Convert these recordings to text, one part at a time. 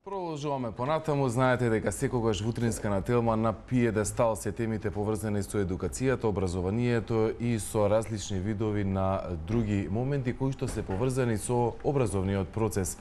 Продолжуваме понатаму. Знаете дека секогаш во утринска на Телма на пиедестал се темите поврзани со едукацијата, образованието и со различни видови на други моменти кои што се поврзани со образовниот процес.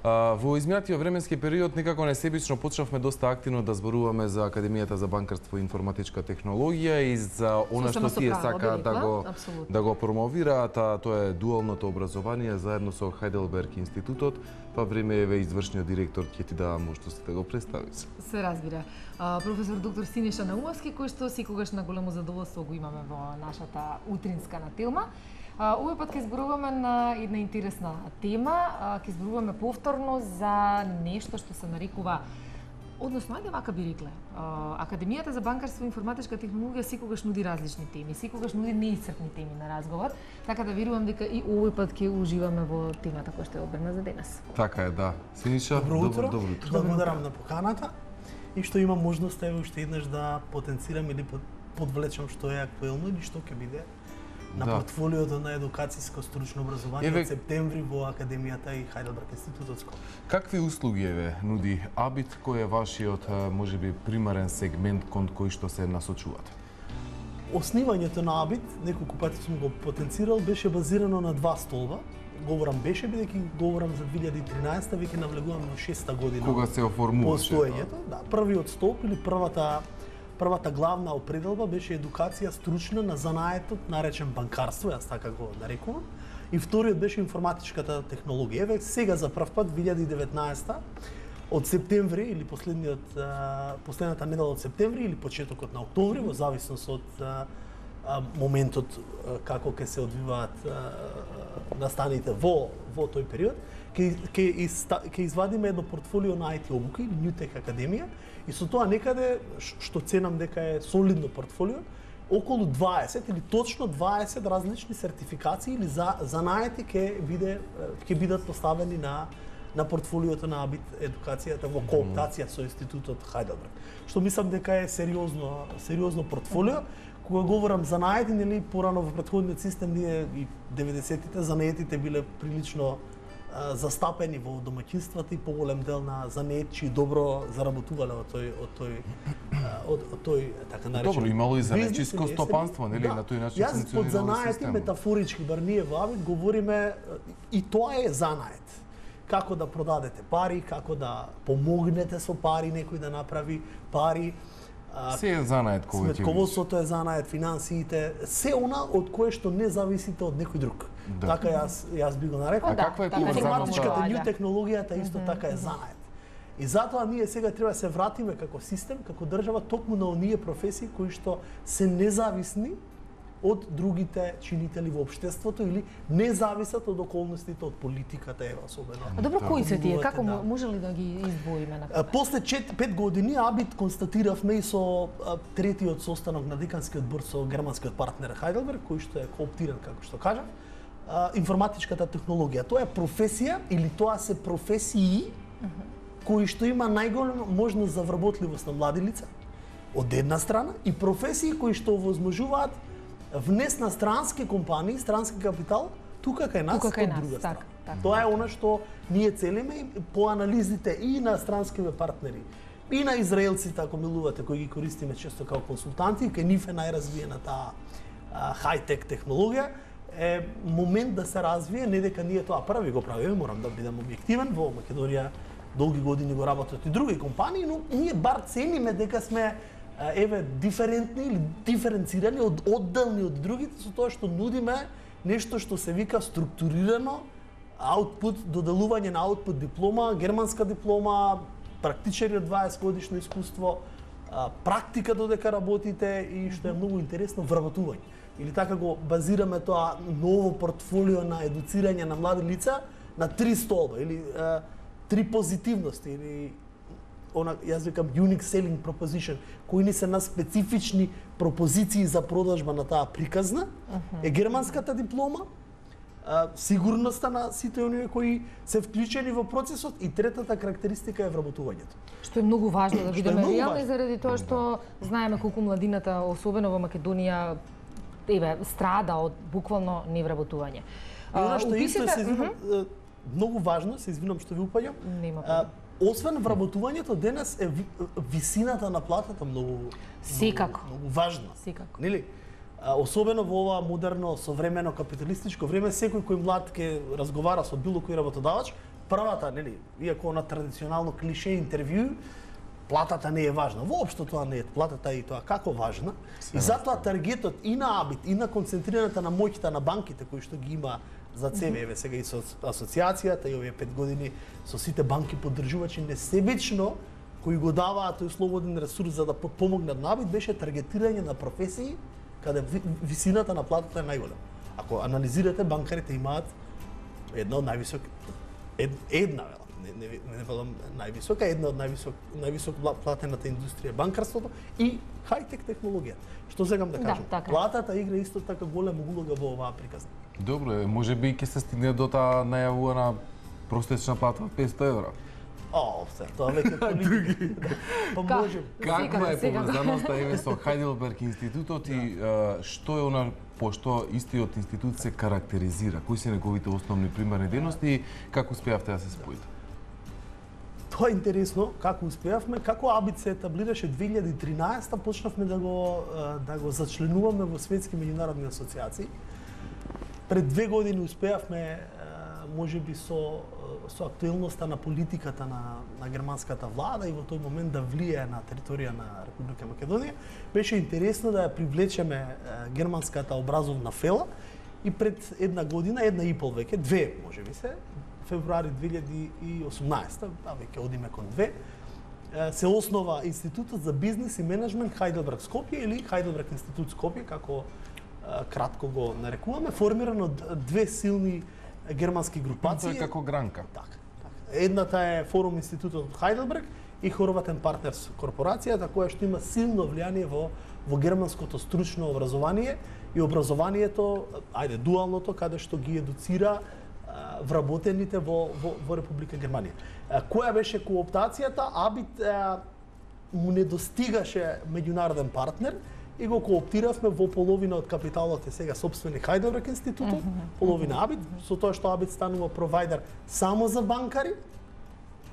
Во изминатиот временски период некако несебично почнавме доста активно да зборуваме за Академијата за банкарство и информатичка технологија и за она што тие сакаат да го промовираат, а тоа е дуалното образование заедно со Хајделберг институтот. Па време е извршниот директор ќе ти дава можност да го представиш. Се разбира. Професор доктор Синеша Наумовски, кој што секогаш на големо задоволство го имаме во нашата утринска на Телма. Овој пат ќе зборуваме на една интересна тема, ќе зборуваме повторно за нешто што се нарекува, односно, ајде вака би рекле, Академијата за банкарство и информатичка технологија секогаш нуди различни теми, секогаш нуди неисцрпни теми на разговор, така да верувам дека и овој пат ќе уживаме во темата која што е одбрана за денес. Така е, да. Синиша, добро утро. Благодарам на поканата и што имам можност еве уште еднаш да потенцирам или подвлечам што е актуелно или што ќе биде на портфолиото на едукацијско стручно образование од септември во Академијата и Хајделберг институтот. Какви услуги нуди Абит, кој е вашиот можеби примарен сегмент кон кој што се насочувате? Основањето на Абит, неколку пати сум го потенцирал, беше базирано на два столба. Говорам беше бидејќи говорам за 2013, веќе навлегувам на 6-та година. Кога се оформуваше постоењето, да, првиот столб или првата главна определба беше едукација стручна на занаетот наречен банкарство, јас така го нарекувам, и вториот беше информатичката технологија. Еве сега за прв пат 2019 од септември или последната недела од септември или почетокот на октомври, во зависност од моментот како ќе се одвиваат настаните во тој период, ќе извадиме едно портфолио на IT обуки, New Tech Академија, и со тоа некаде, што ценам дека е солидно портфолио, околу 20 или точно 20 различни сертификации или занаети ќе бидат поставени на портфолиото на Абит едукацијата во кооптација со институтот Хајделберг. Што мислам дека е сериозно портфолио. Кога говорам за занаети, нели порано во претходниот систем ние и 90-тите занаетите биле прилично застапени во домаќинствата и поголем дел на занаетчи добро заработувале од тој така наречен. Добро, имало и занаетчиско стопанство, нели, на тој начин функционирало системот. Јас под занаети метафорички, бар ние во Абит говориме и тоа е занает. Како да продадете пари, како да помогнете со пари, некој да направи пари. Се е занает кој сметководството е занает, финансиите, се она од кое што не зависите од некој друг. Да. Така јас би го нарекол. А каква е информатичката нью технологијата исто така е занает. И затоа ние сега треба се вратиме како систем, како држава токму на оние професии кои што се независни од другите чинители во општеството или не зависат од околностите, од политиката, ева особено. А добро, кои се тие? Како може ли да ги издвоиме на прв? После 5 години Абит констатиравме и со третиот состанок на деканскиот борд со германскиот партнер Хајделберг, кој што е кооптиран, како што кажав, информатичката технологија. Тоа е професија или тоа се професии кои што има најголема можност за вработливост на млади лица од една страна и професии кои што овозможуваат внес на странски компании, странски капитал, тука кај нас, од друга страна. Тоа е она што ние целиме по анализите и на странскиве партнери, и на израелците, ако милувате, кои ги користиме често како консултанти, кај нив е најразвиената хай-тек технологија, е момент да се развие, не дека ние тоа први го правиме, морам да бидам објективен, во Македонија долги години го работат и други компании, но ние бар цениме дека сме диферентни или диференцирани, одделни од другите со тоа што нудиме нешто што се вика структурирано аутпут, доделување на аутпут диплома, германска диплома, практичари од 20 годишно искуство, практика додека работите и што е многу интересно, вработување. Или така го базираме тоа ново портфолио на едуцирање на млади лица на 3 столба или 3 позитивности или јас викам unique selling proposition, кои ни се на специфични пропозиции за продажба на таа приказна, е германската диплома, сигурноста на сите оние кои се вклучени во процесот и третата карактеристика е вработувањето. Што е многу важно да бидеме реални заради тоа што знаеме колку младината, особено во Македонија, страда од буквално невработување. И она што исто се многу важно, се извинам што ви упаѓам. освен вработувањето, денес е висината на платата многу Секако. многу важна. Секако. Нели? Особено во ова модерно, современо капиталистичко време, секој кој млад ке разговара со било кој работодавач, првата, нели, иако на традиционално клише интервју, платата не е важна. Воопшто тоа не е, платата е и тоа како важна. И затоа таргетот и на Абит, и на концентрираната на моќта на банките кои што ги има за ЦВ, еве сега и со асоциацијата и овие 5 години со сите банки поддржувачи несебично кои го даваат тој слободен ресурс за да подпомогнат на Абит, беше таргетирање на професии каде висината на платата е најголема. Ако анализирате, банкарите имаат една од не велам највисока, една од највисок платената индустрија банкарството и хајтек технологија. Што сегам да кажам? така. Платата игра исто така голема улога во оваа приказна. Добро е, можеби ќе се стигне до таа најавувана простечна плата од 500 евра. Тоа веќе политика. Па можем. Каква е поврзаноста еве со Хајделберг институтот и што е она по што истиот институт се карактеризира? Кои се неговите основни примерни дејности и како успеавте да се споите? Тоа е интересно, како успеавме, како Абит се етаблираше 2013, почнавме да го зачленуваме во светски меѓународни асоциации. Пред 2 години успеавме можеби со актуелноста на политиката на германската влада и во тој момент да влијае на територија на Република Македонија. Беше интересно да ја привлечеме германската образовна фела и пред 1 година, 1,5 веќе, 2 можеби се, февруари 2018, веќе одиме кон 2, се основа Институтот за бизнес и менеджмент Хајделберг Скопје или Хајделберг институт Скопје, како кратко го нарекуваме, формиран од 2 силни германски групации. Тоа е како гранка. Така. Едната е Форум Институтот од Хајделберг и Хорватен партнерс корпорацијата, која што има силно влијание во германското стручно образование и образованието, дуалното, каде што ги едуцира вработените во Република Германија. Која беше кооптацијата? Абит му не достигаше меѓународен партнер и го кооптиравме во половина од капиталот е сега сопствени Хајделберг институтот, половина Абит, со тоа што Абит станува провајдер само за банкари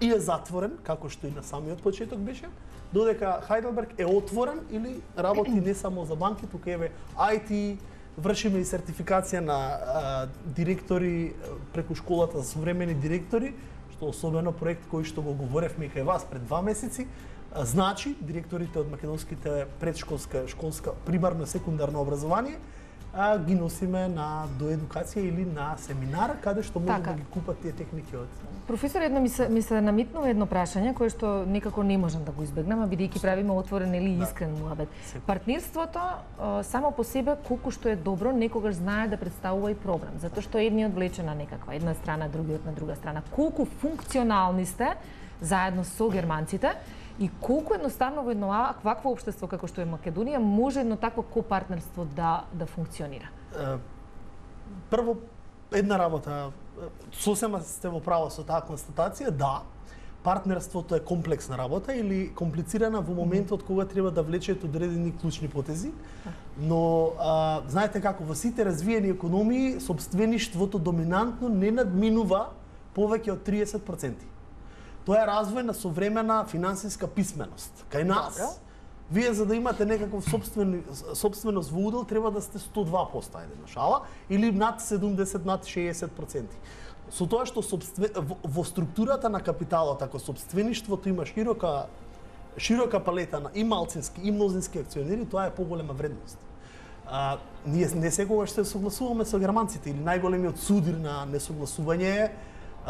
и е затворен, како што и на самиот почеток беше, додека Хајделберг е отворен или работи не само за банки, туку еве IT, вршиме и сертификација на директори преку школата за современи директори, што особено проект кој што го говоревме и кај вас пред 2 месеци, значи директорите од македонските предшколска, школска, примарно секундарно образование, ги носиме на доедукација или на семинар каде што може да ги купат тие техники од. Професор, едно ми се намитнува едно прашање кое што некако не можам да го избегнам, а бидејќи правиме отворен или искрен муабет. Партнерството само по себе колку што е добро, некогаш знае да представува и проблем, затоа што едниот влече на некаква една страна, другиот на друга страна. Колку функционални сте заедно со германците и колку едноставно во едно вакво општество како што е Македонија може едно такво копартнерство да функционира? Прво, една работа, сосема сте во право со таа констатација, да, партнерството е комплексна работа или комплицирана во моментот кога треба да влечете одредени клучни потези, но знаете како, во сите развиени економии, сопствеништвото доминантно не надминува повеќе од 30%. Тоа е развој на современа финансиска писменост. Кај нас, вие за да имате некаков собственост во удел, треба да сте 102%, ајде на шала, или над 70, над 60%. Со тоа што во структурата на капиталот, ако собствеништвото има широка палета на и малцински и мнозински акционери, тоа е поголема вредност. Ние не секогаш се согласуваме со германците или најголемиот судир на несогласување е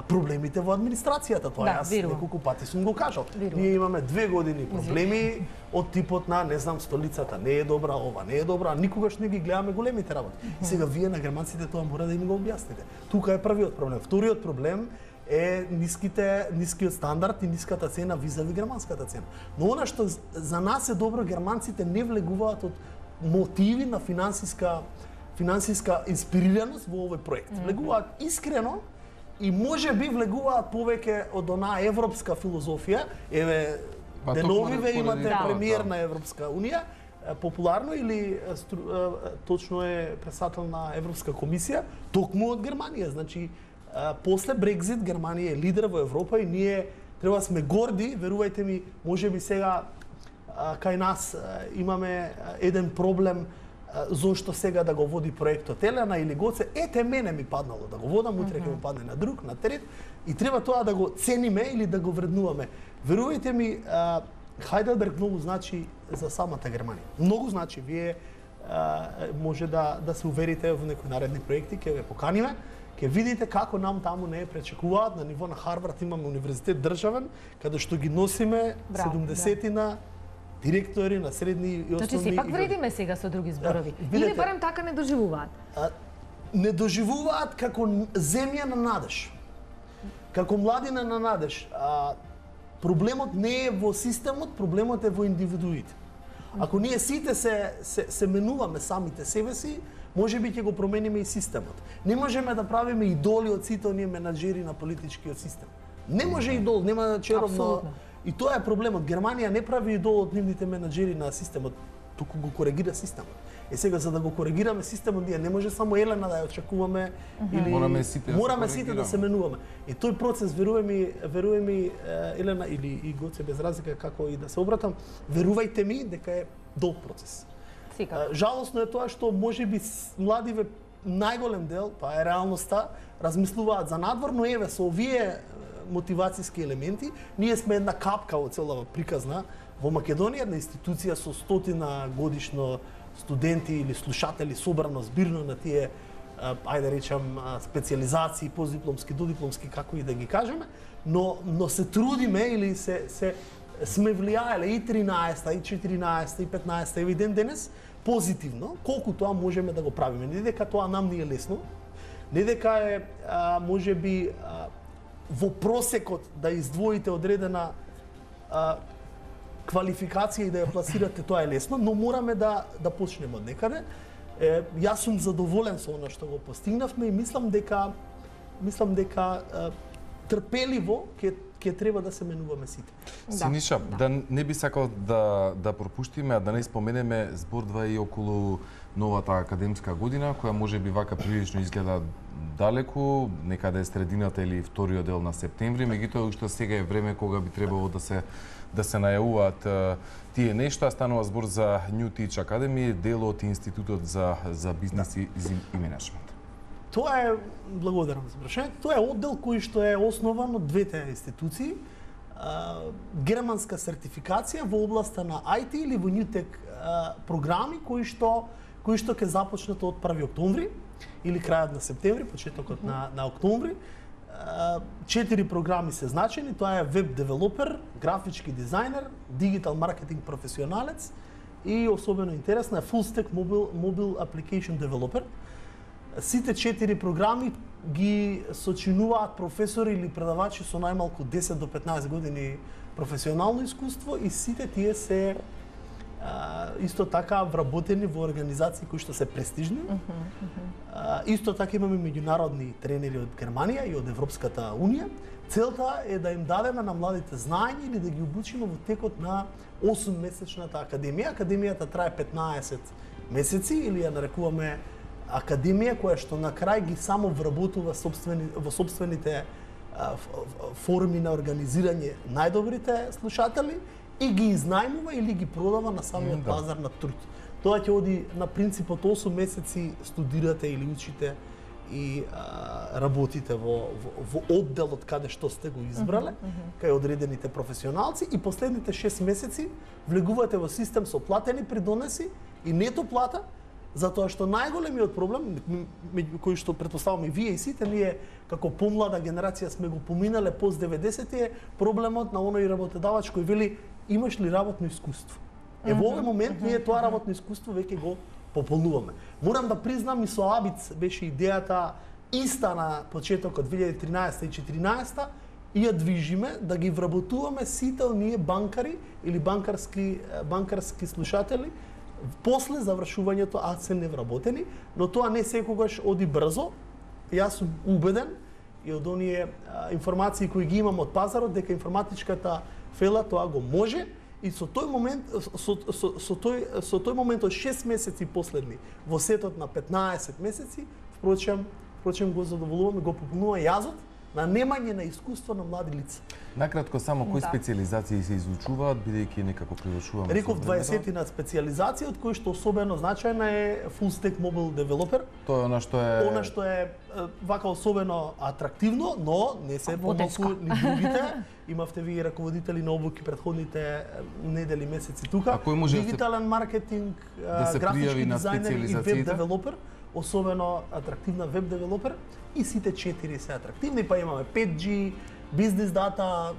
проблемите во администрацијата, тоа јас неколку пати сум го кажал. Ние имаме 2 години проблеми од типот на, не знам, столицата не е добра, ова не е добра, никогаш не ги гледаме големите работи. И сега вие на германците тоа мора да им го објасните. Тука е првиот проблем. Вториот проблем е нискиот стандард и ниската цена визави германската цена. Но она што за нас е добро, германците не влегуваат од мотиви на финансиска инспирираност во овој проект. Влегуваат искрено и може би влегуваат повеќе од онаа европска филозофија. Еве, деновиве имате премиер на Европска унија, популарно или точно е председател на Европска комисија, токму од Германија. Значи, после Брекзит Германија е лидер во Европа и ние Треба да сме горди, верувајте ми, можеби сега кај нас имаме еден проблем зошто сега да го води проектот Елена или Гоце, ете мене ми паднало да го водам, утре ќе му падне на друг, на трет, и треба тоа да го цениме или да го вреднуваме. Верувајте ми, Хайделберг многу значи за самата Германија. Многу значи, вие може да се уверите во некои наредни проекти, ќе ве поканиме, ќе видите како нам таму не пречекуваат. На ниво на Харвард имаме универзитет државен, каде што ги носиме 70-на директори на средни и основни. Значи сепак вредиме сега со други зборови. Или барем така не доживуваат? Не доживуваат како земја на надеж. Како младина на надеж. Проблемот не е во системот, проблемот е во индивидуите. Ако ние сите се менуваме самите себе си, можеби ќе го промениме и системот. Не можеме да правиме идоли од сите оние менаџери на политичкиот систем. Не може идол, нема черовно. И тоа е проблемот. Германија не прави идол од нивните менаџери на системот, туку го коригира системот. Сега за да го коригираме системот, ние не може само Елена да ја очекуваме или мораме сите да се менуваме. И тој процес, верувај ми Елена или и Гоце, без разлика како и да се обратам, верувајте ми дека е долг процес. Жалосно е тоа што можеби младиве најголем дел, тоа е реалноста, размислуваат за надвор, но еве со овие мотивацијски елементи, ние сме една капка од целава приказна во Македонија, една институција со 100 годишно студенти или слушатели собрано збирно на тие, ајде речам, специализации, постдипломски, додипломски, како и да ги кажеме, но се трудиме или сме влијаеле и 13-та, и 14-та, и 15-та, и ден денес, позитивно, колку тоа можеме да го правиме. Не дека тоа нам не е лесно, не дека е, можеби, во просекот да издвоите одредена квалификација и да ја пласирате, тоа е лесно, но мораме да почнеме од некаде. Јас сум задоволен со она што го постигнавме и мислам дека трпеливо ќе треба да се менуваме сите. Синиша, да не би сакал да пропуштиме, а да не споменеме збордва и околу новата академска година, која може би вака прилично изгледа далеку, некаде средината или вториот дел на септември, меѓутоа уште сега е време кога би требало да се најавуваат тие нешта. Станува збор за New Teach Academy, дел од Институтот за бизнес и менеджмент. Тоа е, благодарам за прашањето, тоа е оддел кој што е основан од двете институции, германска сертификација во областа на IT или во New Tech програми кои што ќе започнат од 1 октомври или крајот на септември, почетокот на октомври. 4 програми се значени, тоа е веб девелопер, графички дизајнер, дигитал маркетинг професионалец и особено интересна е full stack mobile application developer. Сите 4 програми ги сочинуваат професори или предавачи со најмалку 10 до 15 години професионално искуство и сите тие се исто така вработени во организации кои што се престижни. Исто така имаме меѓународни тренери од Германија и од Европската Унија. Целта е да им дадеме на младите знаење или да ги обучиме во текот на 8-месечната академија. Академијата трае 15 месеци или ја нарекуваме академија која што на крај ги само вработува во собствените форми на организирање најдобрите слушатели и ги изнајмува или ги продава на самиот пазар на труд. Тоа ќе оди на принципот 8 месеци студирате или учите и работите во одделот каде што сте го избрале, кај одредените професионалци и последните 6 месеци влегувате во систем со платени придонеси и нето плата, затоа што најголемиот проблем, кој што претпоставам и вие и сите ние како помлада генерација сме го поминале пост 90-ти е проблемот на оној работодавач кој вели имаш ли работно искуство. Во овој момент ние тоа работно искуство веќе го пополнуваме. Морам да признам и со АБИЦ беше идејата иста на почетокот 2013 и 2014 и ја движиме да ги вработуваме сите оние банкари или банкарски слушатели после завршувањето, а се невработени, но тоа не секогаш оди брзо. Јас сум убеден и од оние информации кои ги имам од пазарот дека информатичката фела тоа го може и со тој момент од 6 месеци последни во сетот на 15 месеци, впрочем го задоволуваме, го пополнува јазот на немање на искуство на млади лица. Накратко само кои специализации се изучуваат, бидејќи некако превршуваме. Реков 20 на специализации, од кои што особено значајна е Full Stack Mobile Developer. Тоа е она што е вака особено атрактивно, но не се помалку ни другите. Имавте ви раководители на обуки предходните недели, месеци тука. Дигитален маркетинг, графички дизајнер и веб девелопер, особено атрактивна веб девелопер, и сите 4 се атрактивни, па имаме 5G, бизнес дата,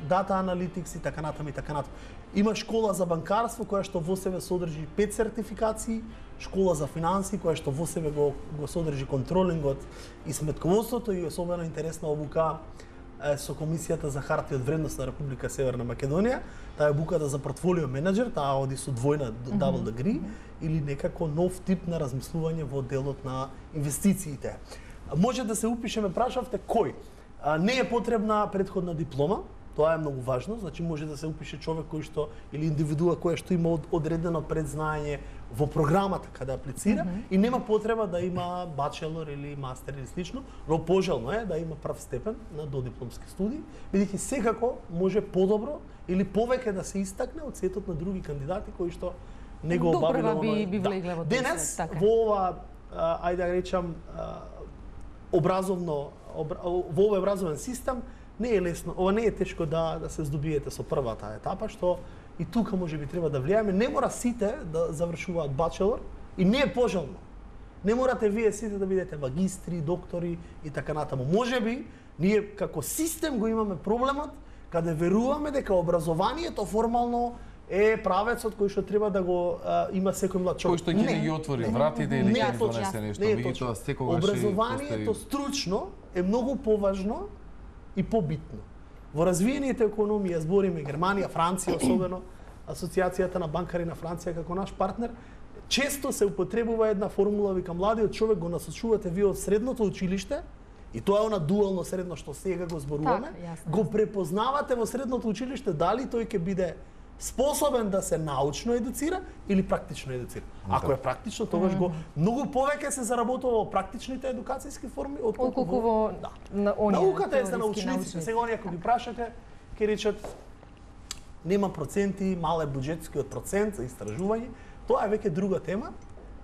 дата аналитикс и така натаму и така натаму. Има школа за банкарство која што во себе содржи 5 сертификации, школа за финанси која што во себе го содржи контролингот и сметководството, и особено интересна обука со Комисијата за хартија од вредност на Република Северна Македонија. Таа е обуката за портфолио менеджер, таа оди со двојна double degree, или некако нов тип на размислување во делот на инвестициите. Може да се упишеме, прашавте кој. Не е потребна претходна диплома, тоа е многу важно, значи може да се упише човек кој што или индивидуа која што има одредено предзнаење во програмата каде аплицира и нема потреба да има бачелор или мастер или слично, но пожелно е да има прв степен на додипломски студии, бидејќи секако може подобро или повеќе да се истакне од сетот на други кандидати кои што не го обавиле денес во ова, ајде да речам, во овој образовен систем не е лесно, ова не е тешко да се здобиете со првата етапа, што и тука може би треба да влијаме. Не мора сите да завршуваат бачелор и не е пожелно. Не морате вие сите да бидете магистри, доктори и така натаму. Може би ние како систем го имаме проблемот каде веруваме дека образованието формално е правецот кој што треба да го има секој млад човек. Кој што ќе ги отвори вратите или ќе донесе нешто. Меѓутоа секогаш образованието стручно е многу поважно и побитно. Во развиените економии, збориме Германија, Франција, особено Асоциацијата на банкари на Франција како наш партнер, често се употребува една формула, вика младиот човек го насочувате вие од средното училиште, и тоа е она дуално средно што сега го зборуваме, го препознавате во средното училиште дали тој ќе биде способен да се научно едуцира или практично едуцира. Ако е практично, тогаш го многу повеќе се заработува во практичните едукацијски форми отколку во науката е за научниците. Сега оние ако ги прашате, ќе речат нема проценти, мал е буџетскиот процент за истражување. Тоа е веќе друга тема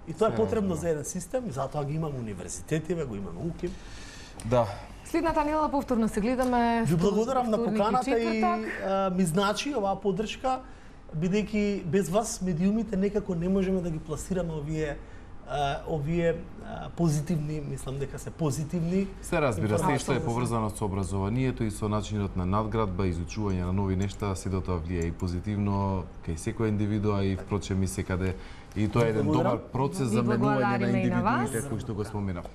и тоа е потребно за еден систем и затоа ги имаме универзитетиве, го имаме УКИМ. Да. Следната недела повторно се гледаме. Ви благодарам на поканата и ми значи оваа поддршка, бидејќи без вас медиумите некако не можеме да ги пласираме овие позитивни, мислам дека се позитивни. Се разбира, се што е поврзано со образованието и со начинот на надградба, изучување на нови нешта, сето тоа влијае и позитивно кај секој индивидуа и впрочем и секаде. И тоа е еден добар процес за менување на индивидуите кои што го споменав.